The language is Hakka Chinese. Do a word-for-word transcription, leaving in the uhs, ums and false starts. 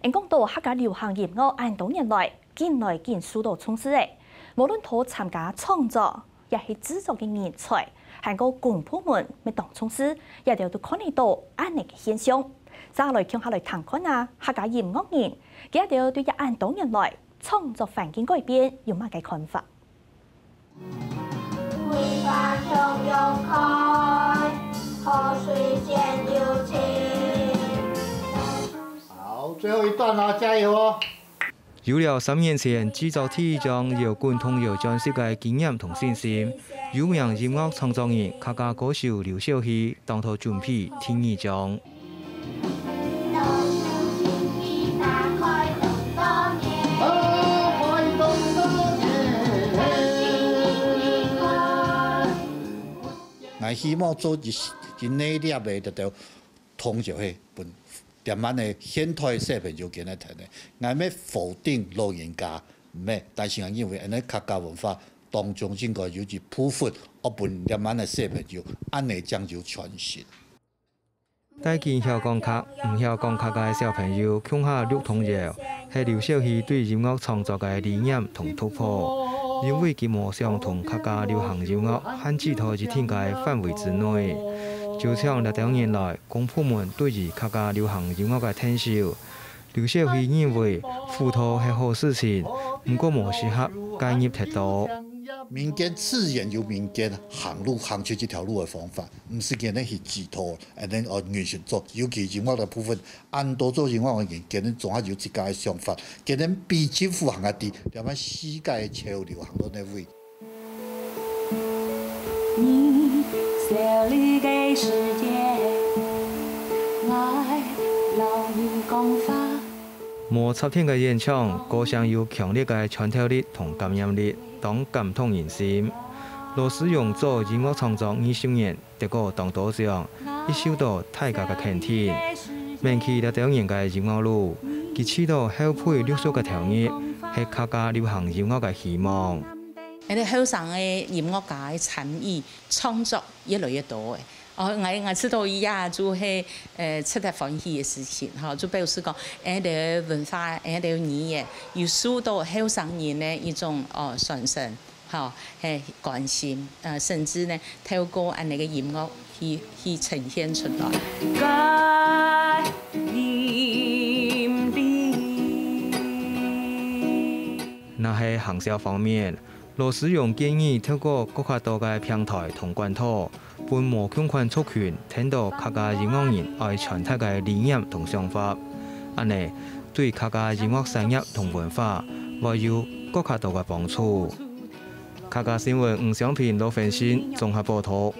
恁講到客家流行音樂恁多年來，緊來緊受到重視誒，無論在參加創作，也係製作个人才，還過公部門乜當重視，這兜都看得到恁呢个現象。接下來共下來聽看啊，客家音樂人，佢兜對這恁多年來創作環境改變有麼个看法？ 好，最後一段啦，加油哦！有了三年前製作第一張搖滾童謠專輯个經驗同信心，有名音樂創作人、客家歌手劉小希當初準備第二張。 𠊎希望做一一系列个這兜童謠戲，分這滿个現代小朋友今日聽个。𠊎毋係否定老人家，毋係，但是𠊎認為恁呢客家文化當中應該有一部分，愛分這滿个小朋友，恁呢正有傳承。 帶緊曉講客、毋曉講客个小朋友共下錄童謠，係劉小希對音樂創作个理念同突破。因為佢無想同客家流行音樂限制在一定个範圍之內，就像這兜年來，公部門對於客家流行音樂个𢯭手， 劉小希認為輔導係好事情，毋過無適合介入忒多。民間自然有民間行路行出這條路个方法，毋使今日去指導，恁呢哦，原先做，尤其音樂个部分，恁多做音樂个人，今日總還有自家个想法，今日比政府還較知，了解世界个潮流行到哪位。 無插電个演唱，歌聲有強烈个穿透力同感染力，當感動人心。羅思容做音樂創作二十年，得過當多獎，亦受到大家个肯定。愐起這兜年个音樂路，佢試著後輩陸續个投入，係客家流行音樂个希望。 𠊎兜後生个音樂家个參與創作越來越多誒。哦，𠊎𠊎知道這就係呃值得歡喜个事情，吼，就表示講，𠊎兜文化，𠊎兜語言有受到後生人个一種哦傳承，吼，係關心，呃，甚至呢透過恁呢个音樂去去呈現出來。若係行銷方面， 羅思容建議透過各較多个平台同管道，分無共款族群聽著客家音樂人愛傳達个理念同想法。恁呢，對客家音樂產業同文化會有各較多个幫助。客家新聞吳湘萍、羅芬心綜合報導。